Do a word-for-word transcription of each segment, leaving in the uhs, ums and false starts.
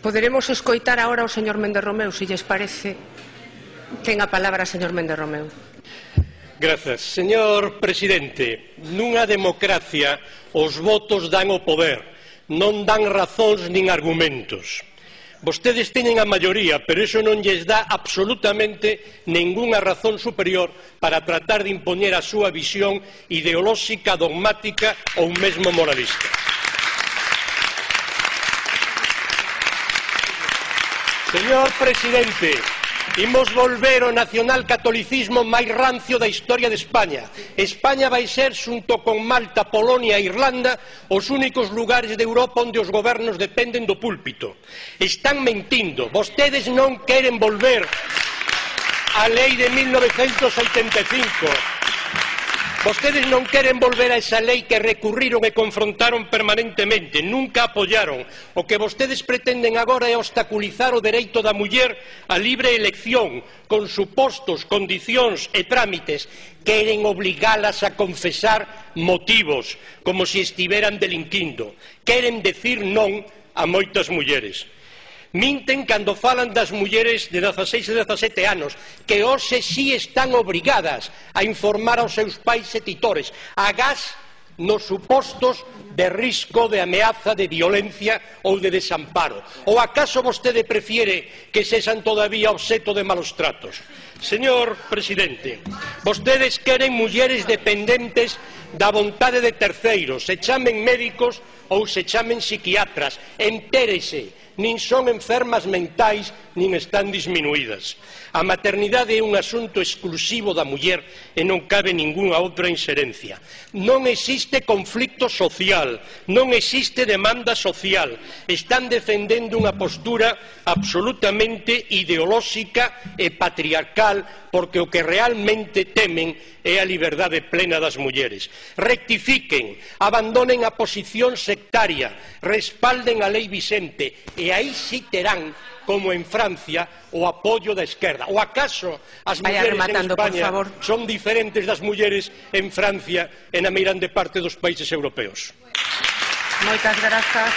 Poderemos escoitar agora o señor Méndez Romeu, se lles parece. Ten a palabra, señor Méndez Romeu. Grazas. Señor presidente, nunha democracia os votos dan o poder, non dan razóns nin argumentos. Vostedes teñen a maioría, pero iso non lles dá absolutamente ningunha razón superior para tratar de impoñer a súa visión ideolóxica, dogmática ou mesmo moralista. Señor presidente, imos volver ao nacionalcatolicismo máis rancio da historia de España. España vai ser, xunto con Malta, Polonia e Irlanda, os únicos lugares de Europa onde os gobernos dependen do púlpito. Están mentindo. Vostedes non queren volver á lei de mil novecentos oitenta e cinco. Vostedes non queren volver a esa lei que recurriron e confrontaron permanentemente, nunca apoyaron. O que vostedes pretenden agora é obstaculizar o dereito da muller á libre elección, con supostos, condicións e trámites. Queren obligalas a confesar motivos, como se estiveran delinquindo. Queren decir non a moitas mulleres. Minten cando falan das mulleres de dezaseis e dezasete anos, que hoxe si están obrigadas a informar aos seus pais e titores, agás nos supostos de risco, de ameaza, de violencia ou de desamparo. Ou acaso vostede prefiere que sexan todavía obxecto de malos tratos? Señor presidente, vostedes queren mulleres dependentes da vontade de terceiros, se chamen médicos ou se chamen psiquiatras. Entérese, nin son enfermas mentais, nin están disminuídas. A maternidade é un asunto exclusivo da muller e non cabe ningunha outra inserencia. Non existe conflicto social, non existe demanda social. Están defendendo unha postura absolutamente ideolóxica e patriarcal, porque o que realmente temen é a liberdade plena das mulleres. Rectifiquen, abandonen a posición sectaria, respalden a lei Vicente e aí sí terán, como en Francia, o apoio da esquerda. Ou acaso as mulleres en España son diferentes das mulleres en Francia e na meirande parte dos países europeos? Moitas grazas.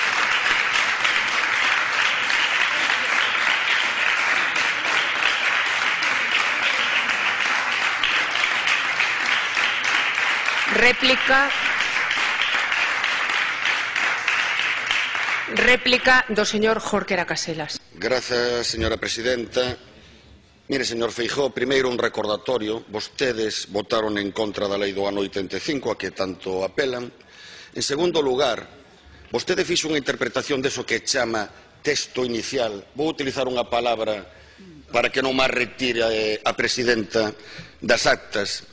Réplica. Réplica do señor Jorquera Caselas. Grazas, señora presidenta. Mire, señor Feijóo, primeiro un recordatorio. Vostedes votaron en contra da lei do ano oitenta e cinco, a que tanto apelan. En segundo lugar, vostede fixo unha interpretación deso que chama texto inicial. Vou utilizar unha palabra para que non máis retire a presidenta das actas,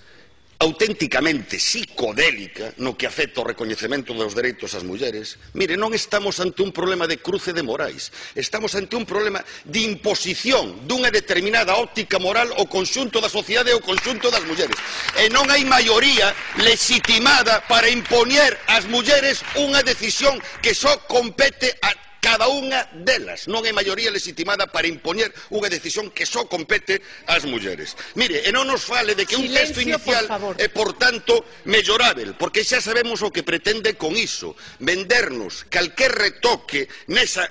auténticamente psicodélica no que afecta ao recoñecemento dos dereitos ás mulleres. Mire, non estamos ante un problema de cruce de morais, estamos ante un problema de imposición dunha determinada óptica moral ao conxunto da sociedade e ao conxunto das mulleres. E non hai maioría legitimada para impoñer ás mulleres unha decisión que só compete a cada unha delas. Non hai maioría legitimada para impoñer unha decisión que só compete ás mulleres. Mire, e non nos fale de que un texto inicial é, por tanto, mellorável, porque xa sabemos o que pretende con iso, vendernos calquer retoque nesa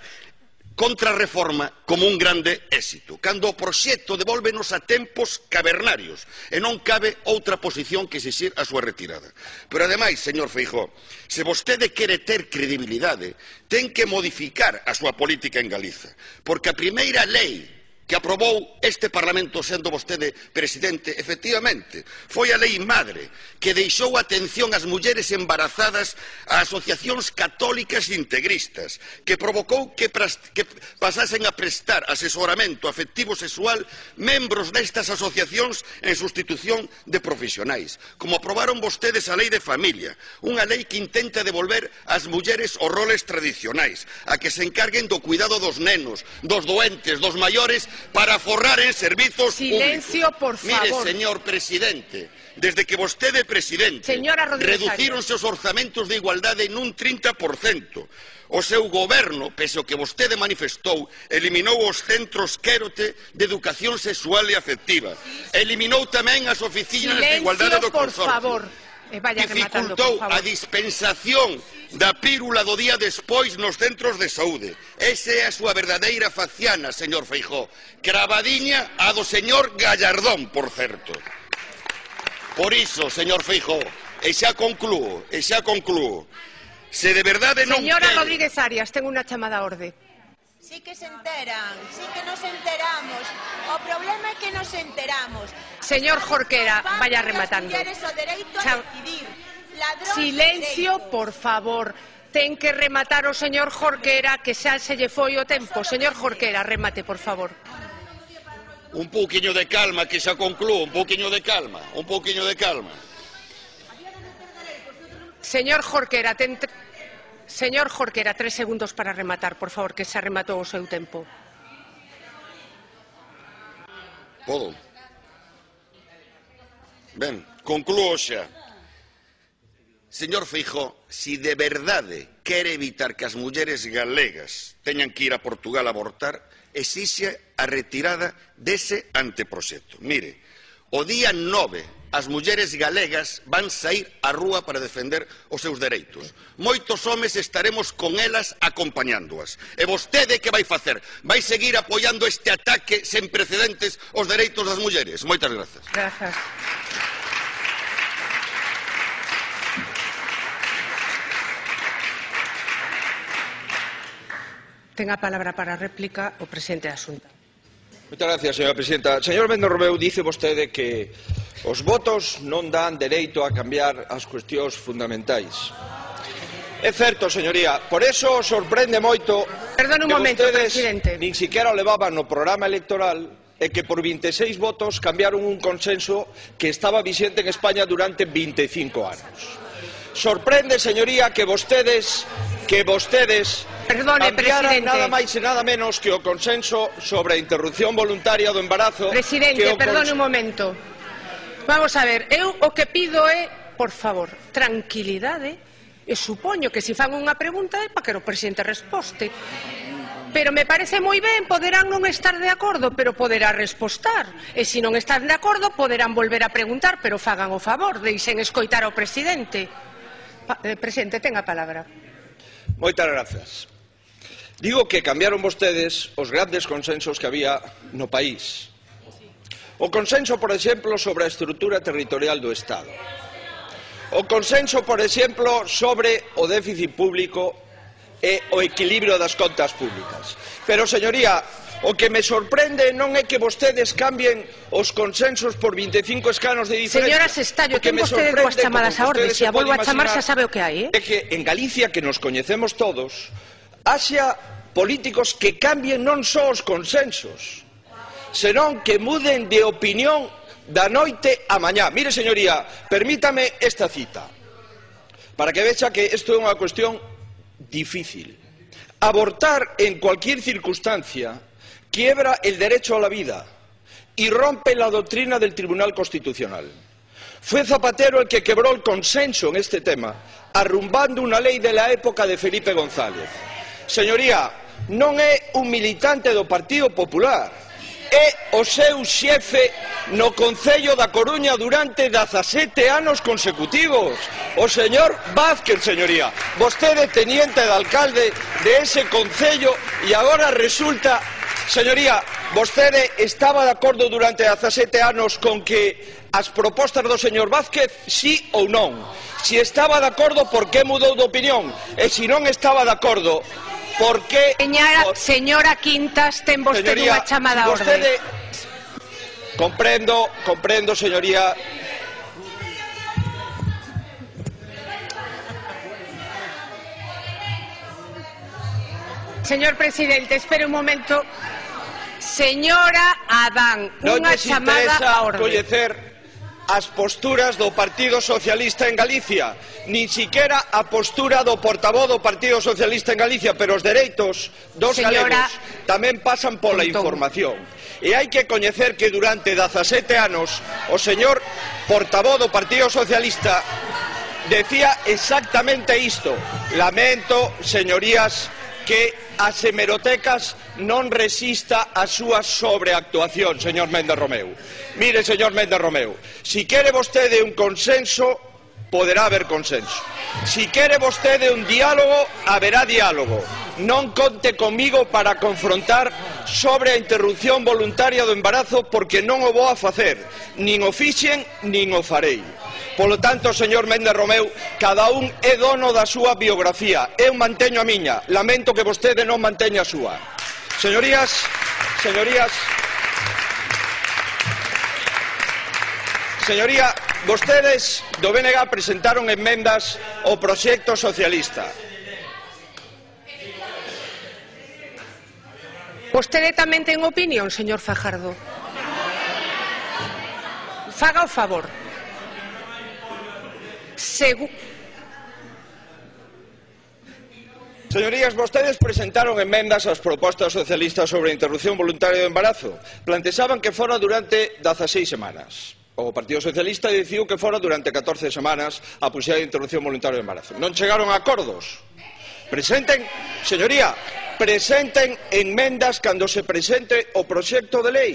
contrarreforma como un grande éxito, cando o proxecto devólvenos a tempos cavernarios e non cabe outra posición que exixir a súa retirada. Pero ademais, señor Feijóo, se vostede quere ter credibilidade, ten que modificar a súa política en Galiza, porque a primeira lei que aprobou este Parlamento sendo vostede presidente, efectivamente, foi a lei madre, que deixou atención ás mulleres embarazadas a asociacións católicas e integristas, que provocou que, que pasasen a prestar asesoramento afectivo sexual membros destas asociacións en sustitución de profesionais. Como aprobaron vostedes a lei de familia, unha lei que intenta devolver ás mulleres os roles tradicionais, a que se encarguen do cuidado dos nenos, dos doentes, dos maiores, para forrar en servizos Silencio, públicos. Por favor. Mire, señor presidente, desde que vostede é presidente, reducíronse os orzamentos de igualdade nun trinta por cento. O seu goberno, pese ao que vostede manifestou, eliminou os centros Quérote de educación sexual e afectiva. Eliminou tamén as oficinas de igualdade do Consorcio. E vaya rematando, dificultou por favor. a dispensación da pírula do día despois nos centros de saúde. Esa é a súa verdadeira faciana, señor Feijóo. Cravadiña a do señor Gallardón, por certo. Por iso, señor Feijóo, e xa conclúo, e xa conclúo, se de verdade non Señora quere... Rodríguez Arias, ten unha chamada a orde. Sí que se enteran, sí que nos enteramos. O problema é que nos enteramos. Señor Jorquera, vaya rematando. Chao. Silencio, por favor. Ten que rematar o señor Jorquera, que xa se lle foi o tempo. Señor Jorquera, remate, por favor. Un pouquiño de calma, que xa conclúo, un pouquiño de calma, un pouquiño de calma. Señor Jorquera, ten... Señor Jorquera, tres segundos para rematar, por favor, que xa rematou o seu tempo. Podo? Ben, conclúo xa. Señor Feijóo, si de verdade quere evitar que as mulleres galegas teñan que ir a Portugal a abortar, exixe a retirada dese anteproxecto. Mire, o día nove as mulleres galegas van saír á rúa para defender os seus dereitos. Moitos homes estaremos con elas acompañándoas. E vostede que vai facer? Vai seguir apoiando este ataque sen precedentes aos dereitos das mulleres? Moitas grazas. Grazas. Ten a palabra para a réplica o presidente da Xunta. Moitas gracias, señora presidenta. Señor Méndez Romeu, dice vostede que os votos non dan dereito a cambiar as cuestións fundamentais. É certo, señoría, por eso sorprende moito Perdón un que momento, vostedes presidente. nin siquiera o levaban no programa electoral e que por vinte e seis votos cambiaron un consenso que estaba vixente en España durante vinte e cinco anos. Sorprende, señoría, que vostedes que vostedes Perdone, cambiaran presidente. nada máis e nada menos que o consenso sobre a interrupción voluntaria do embarazo. Presidente, que o perdone un momento. Vamos a ver, eu o que pido é, por favor, tranquilidade, e supoño que se fan unha pregunta é para que o presidente resposte. Pero me parece moi ben, poderán non estar de acordo, pero poderá respostar. E se non están de acordo, poderán volver a preguntar, pero fagan o favor, deixen escoitar ao presidente. Pa, eh, presidente, ten a palabra. Moitas grazas. Digo que cambiaron vostedes os grandes consensos que había no país. O consenso, por exemplo, sobre a estrutura territorial do Estado. O consenso, por exemplo, sobre o déficit público e o equilibrio das contas públicas. Pero, señoría, o que me sorprende non é que vostedes cambien os consensos por vinte e cinco escanos de diferencia. Señora Sestallo, ten vostede dúas chamadas a orde. Se a volvo a chamar, xa sabe o que hai, eh? É que en Galicia, que nos coñecemos todos, haxa políticos que cambien non só os consensos, senón que muden de opinión da noite a mañá. Mire, señoría, permítame esta cita, para que vexa que isto é unha cuestión difícil. Abortar en cualquier circunstancia quiebra el derecho a la vida y rompe la doctrina del Tribunal Constitucional. Fue Zapatero el que quebró el consenso en este tema, arrumbando una ley de la época de Felipe González. Señoría, non é un militante do Partido Popular, é o seu xefe no Concello da Coruña durante dezasete anos consecutivos, o señor Vázquez, señoría. Vostede teniente de alcalde de ese Concello e agora resulta... Señoría, vostede estaba de acordo durante dezasete anos con que as propostas do señor Vázquez, sí ou non? Si estaba de acordo, por que mudou de opinión? E se non estaba de acordo, por que... Señora, señora Quintas, ten vostede Señoría, unha chamada a orde. vostede... Comprendo, comprendo, señoría. Señor presidente, espere un momento. Señora Adán, Non unha lles chamada interesa a orde. coñecer as posturas do Partido Socialista en Galicia, nin siquiera a postura do portavoz do Partido Socialista en Galicia, pero os dereitos dos Señora... galegos tamén pasan pola Pontón. información. E hai que coñecer que durante dezasete anos o señor portavoz do Partido Socialista decía exactamente isto. Lamento, señorías, que as hemerotecas non resista a súa sobreactuación, señor Méndez Romeu. Mire, señor Méndez Romeu, si quere vostede un consenso, poderá haber consenso. Si quere vostede un diálogo, haberá diálogo. Non conte comigo para confrontar sobre a interrupción voluntaria do embarazo, porque non o vou a facer, nin o fixen, nin o farei. Polo tanto, señor Méndez Romeu, cada un é dono da súa biografía. Eu manteño a miña, lamento que vostede non manteña a súa. Señorías, señorías, señoría, vostedes do B N G presentaron enmendas ao proxecto socialista. Vostede tamén ten opinión, señor Fajardo. Faga o favor. Segu... Señorías, vostedes presentaron enmendas ás propostas socialistas sobre a interrupción voluntaria do embarazo. Planteaban que fora durante dezaseis semanas. O Partido Socialista decidiu que fora durante catorce semanas a posibilidade de interrupción voluntaria do embarazo. Non chegaron a acordos. Presenten, señoría, presenten enmendas cando se presente o proxecto de lei.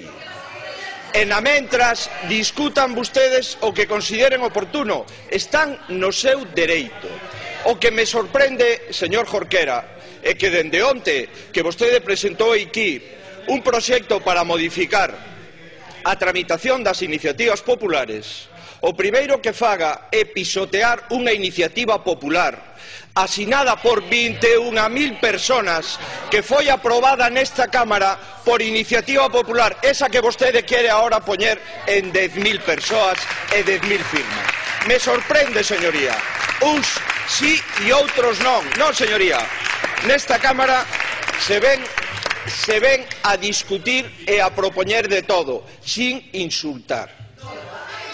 E na mentras discutan vostedes o que consideren oportuno. Están no seu dereito. O que me sorprende, señor Jorquera, é que dende onte que vostede presentou aquí un proxecto para modificar a tramitación das iniciativas populares, o primeiro que faga é pisotear unha iniciativa popular asinada por vinte e unha mil persoas que foi aprobada nesta Cámara por iniciativa popular, esa que vostede quere agora poñer en dez mil persoas e dez mil firmas. Me sorprende, señoría. Uns sí e outros non. Non, señoría. Nesta Cámara se ven se ven a discutir e a propoñer de todo, sin insultar,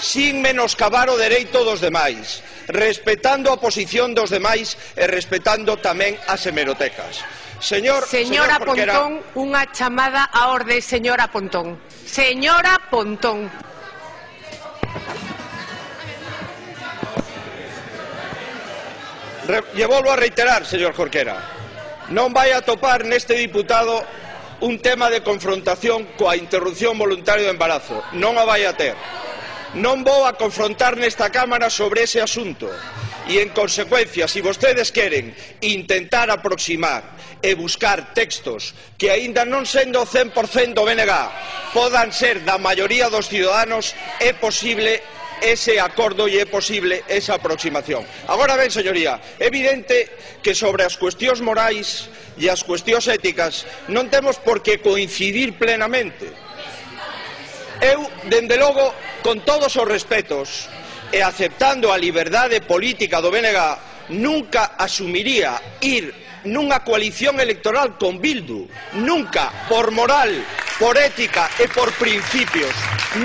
sin menoscabar o dereito dos demais, respetando a posición dos demais e respetando tamén as hemerotecas. Señor, señora señor Jorquera, Pontón, unha chamada á orde, señora Pontón. Señora Pontón. Re, lle volvo a reiterar, señor Jorquera, non vai a topar neste diputado un tema de confrontación coa interrupción voluntaria do embarazo. Non a vai a ter. Non vou a confrontar nesta Cámara sobre ese asunto. E, en consecuencia, se vostedes queren intentar aproximar e buscar textos que, aínda non sendo cen por cento do B N G, podan ser da maioría dos ciudadanos, é posible ese acordo e é posible esa aproximación. Agora ben, señoría, é evidente que sobre as cuestións morais e as cuestións éticas non temos por que coincidir plenamente. Eu, dende logo, con todos os respetos e aceptando a liberdade política do B N G, nunca asumiría ir nunha coalición electoral con Bildu, nunca, por moral, por ética e por principios,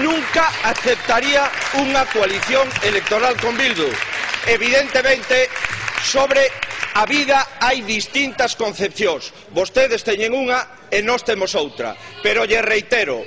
nunca aceptaría unha coalición electoral con Bildu. Evidentemente, sobre a vida hai distintas concepcións. Vostedes teñen unha e nós temos outra. Pero lle reitero,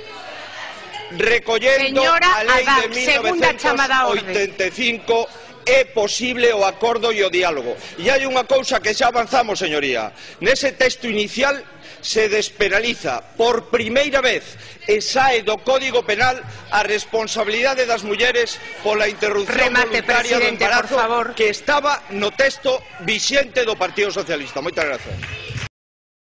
recollendo Señora a lei Adán, de mil novecentos oitenta e cinco, é posible o acordo e o diálogo. E hai unha cousa que xa avanzamos, señoría. Nese texto inicial se despenaliza por primeira vez e sae do Código Penal a responsabilidade das mulleres pola interrupción Remate, voluntaria do presidente, embarazo, por favor. que estaba no texto vixente do Partido Socialista. Moitas grazas.